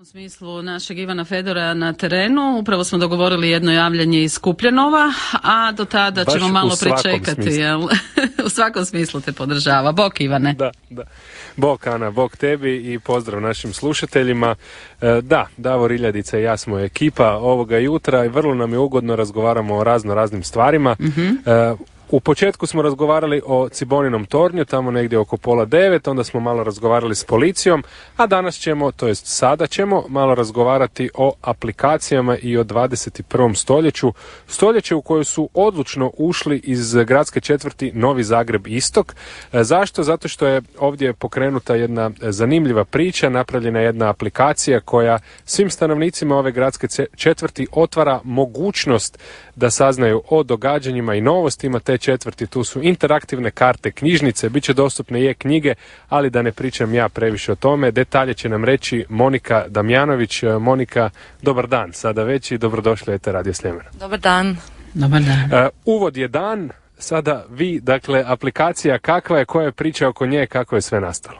U smislu našeg Ivana Fedora na terenu, upravo smo dogovorili jedno javljanje iz Kupljanova, a do tada baš ćemo malo u svakom pričekati, smislu. jel? U svakom smislu te podržava. Bok Ivane. Da. Bok Ana, bok tebi i pozdrav našim slušateljima. Da, Davor Iljadica i ja smo ekipa ovoga jutra i vrlo nam je ugodno, razgovaramo o raznim stvarima. U početku smo razgovarali o Ciboninom tornju, tamo negdje oko 8:30, onda smo malo razgovarali s policijom, a danas ćemo, to jest sada ćemo, malo razgovarati o aplikacijama i o 21. stoljeće u koju su odlučno ušli iz gradske četvrti Novi Zagreb Istok. Zašto? Zato što je ovdje pokrenuta jedna zanimljiva priča, napravljena jedna aplikacija koja svim stanovnicima ove gradske četvrti otvara mogućnost da saznaju o događanjima i novostima te četvrti. Tu su interaktivne karte, knjižnice, bit će dostupne i knjige, ali da ne pričam ja previše o tome. Detalje će nam reći Monika Damjanović. Monika, dobar dan sada već i dobrodošli u ETR Radio Sljemena. Dobar dan. Dobar dan. Uvod je dan, sada vi, dakle, aplikacija kakva je, koja je priča oko nje, kako je sve nastalo?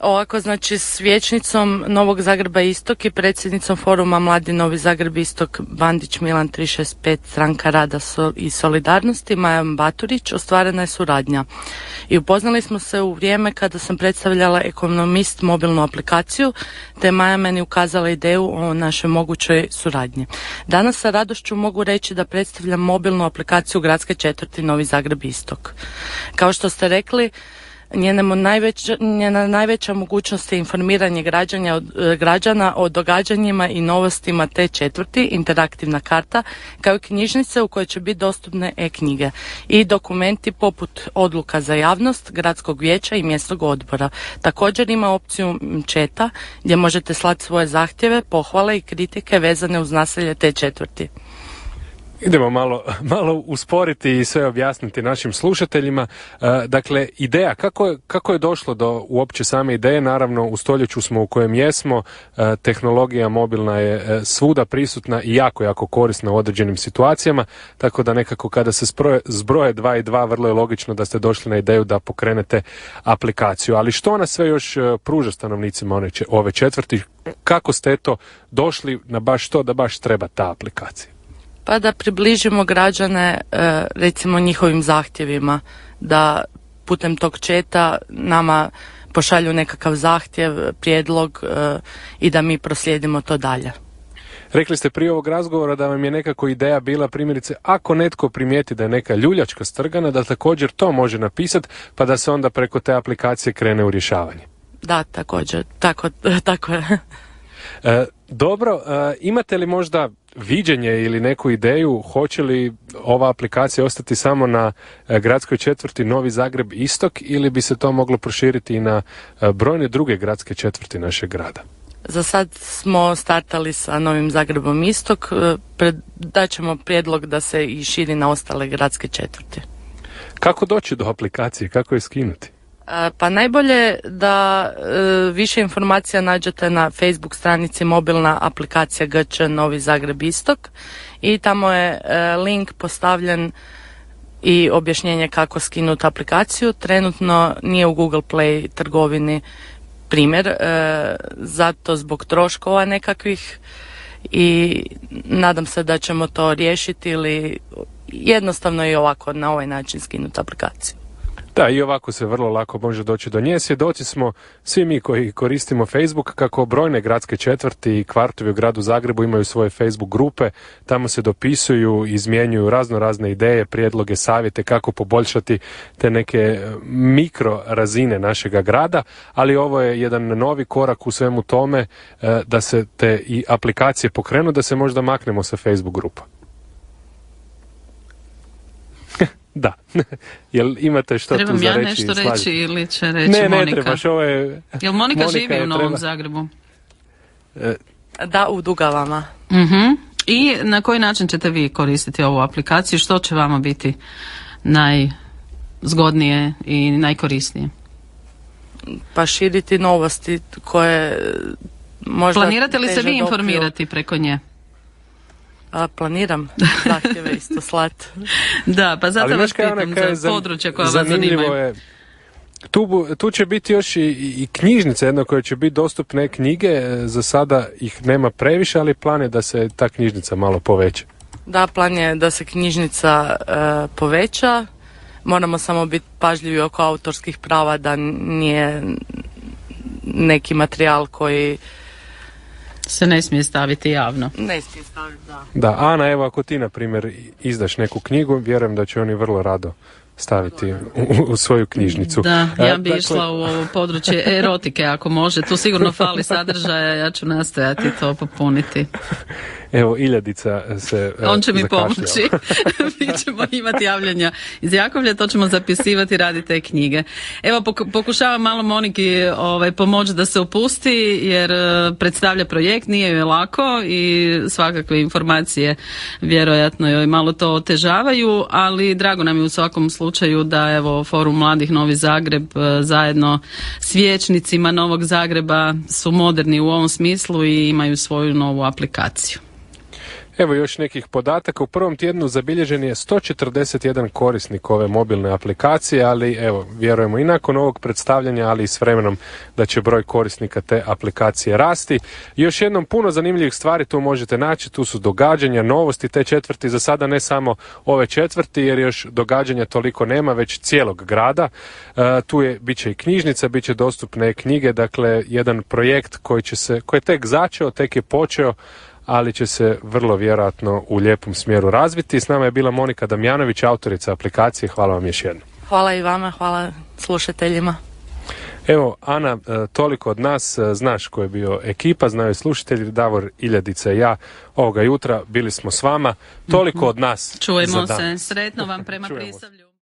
Ovako, znači, s vijećnicom Novog Zagreba Istok i predsjednicom foruma Mladi Novi Zagreb Istok Bandić Milan 365 Stranka rada i solidarnosti Majom Baturić ostvarena je suradnja. I upoznali smo se u vrijeme kada sam predstavljala Ekonomist mobilnu aplikaciju, te Maja meni ukazala ideju o našoj mogućoj suradnji. Danas sa radošću mogu reći da predstavljam mobilnu aplikaciju gradske četvrti Novi Zagreb Istok. Kao što ste rekli, njena najveća mogućnost je informiranje građana o događanjima i novostima te četvrti, interaktivna karta, kao i knjižnice u kojoj će biti dostupne e-knjige i dokumenti poput odluka za javnost, gradskog vijeća i mjesnog odbora. Također ima opciju chata gdje možete slati svoje zahtjeve, pohvale i kritike vezane uz naselje te četvrti. Idemo malo usporiti i sve objasniti našim slušateljima. Dakle, ideja, kako je došlo do uopće same ideje? Naravno, u stoljeću smo u kojem jesmo, tehnologija mobilna je svuda prisutna i jako korisna u određenim situacijama, tako da nekako kada se zbroje 2 i 2, vrlo je logično da ste došli na ideju da pokrenete aplikaciju. Ali što nas sve još pruža stanovnicima ove četvrti? Kako ste došli na baš to da baš treba ta aplikacija? Pa da približimo građane recimo njihovim zahtjevima, da putem tog chata nama pošalju nekakav zahtjev, prijedlog i da mi proslijedimo to dalje. Rekli ste prije ovog razgovora da vam je nekako ideja bila, primjerice, ako netko primijeti da je neka ljuljačka strgana, da također to može napisati pa da se onda preko te aplikacije krene u rješavanje. Da, također, tako je. Dobro, imate li možda viđenje ili neku ideju, hoće li ova aplikacija ostati samo na gradskoj četvrti Novi Zagreb Istok ili bi se to moglo proširiti i na brojne druge gradske četvrti našeg grada? Za sad smo startali sa Novim Zagrebom Istok, daćemo prijedlog da se i širi na ostale gradske četvrti. Kako doći do aplikacije, kako je skinuti? Pa najbolje da više informacija nađete na Facebook stranici mobilna aplikacija GČ Novi Zagreb Istok i tamo je link postavljen i objašnjenje kako skinuti aplikaciju. Trenutno nije u Google Play trgovini primjer, zato zbog troškova nekakvih i nadam se da ćemo to riješiti ili jednostavno i ovako na ovaj način skinuti aplikaciju. Da, i ovako se vrlo lako može doći do nje. Svjedoci smo svi mi koji koristimo Facebook kako brojne gradske četvrti i kvartovi u gradu Zagrebu imaju svoje Facebook grupe. Tamo se dopisuju, izmjenjuju razne ideje, prijedloge, savjete kako poboljšati te neke mikro razine našega grada, ali ovo je jedan novi korak u svemu tome da se te i aplikacije pokrenu, da se možda maknemo sa Facebook grupa. Da. Jel imate što Trebam tu za ja reći? nešto reći ili će reći Monika? Ne trebaš, ovo je... Jel Monika živi u Novom Zagrebu? Da, u Dugavama. I na koji način ćete vi koristiti ovu aplikaciju? Što će vama biti najzgodnije i najkorisnije? Pa širiti novosti koje možda... Planirate li se vi informirati preko nje? Planiram zahtjeve isto slat. Da, pa zato vas pitam za područje koja vas zanimaju. Tu će biti još i knjižnica jedna koja će biti dostupne knjige, za sada ih nema previše, ali plan je da se ta knjižnica malo poveća. Da, plan je da se knjižnica poveća, moramo samo biti pažljivi oko autorskih prava, da nije neki materijal koji se ne smije staviti javno. Ne smije staviti, da. Da, Ana, evo ako ti, na primjer, izdaš neku knjigu, vjerujem da će oni vrlo rado staviti u svoju knjižnicu. Da, ja bi išla u ovo područje erotike ako može. Tu sigurno fali sadržaja, ja ću nastojati to popuniti. Evo, Iljadica se on će mi zakašljala. pomoći. Mi ćemo imati javljanja iz Jakovlja, to ćemo zapisivati, raditi te knjige. Evo, pokušavam malo Moniki pomoći da se opusti, jer predstavlja projekt, nije joj lako i svakakve informacije vjerojatno joj malo to otežavaju, ali drago nam je u svakom slučaju da evo Forum mladih Novi Zagreb zajedno s vijećnicima Novog Zagreba su moderni u ovom smislu i imaju svoju novu aplikaciju. Evo još nekih podataka. U prvom tjednu zabilježen je 141 korisnik ove mobilne aplikacije, ali evo, vjerujemo i nakon ovog predstavljanja, ali i s vremenom da će broj korisnika te aplikacije rasti. Još jednom, puno zanimljivih stvari tu možete naći, tu su događanja, novosti te četvrti, za sada ne samo ove četvrti, jer još događanja toliko nema, već cijelog grada. Tu bit će i knjižnica, bit će dostupne knjige, dakle jedan projekt koji je tek začeo, tek je počeo, ali će se vrlo vjerojatno u lijepom smjeru razviti. S nama je bila Monika Damjanović, autorica aplikacije. Hvala vam još jednom. Hvala i vama, hvala slušateljima. Evo, Ana, toliko od nas, znaš ko je bio ekipa, znaju i slušatelji, Davor, Iljadica i ja ovoga jutra bili smo s vama. Toliko od nas. Čujemo se, sretno vam prema Prisavlju.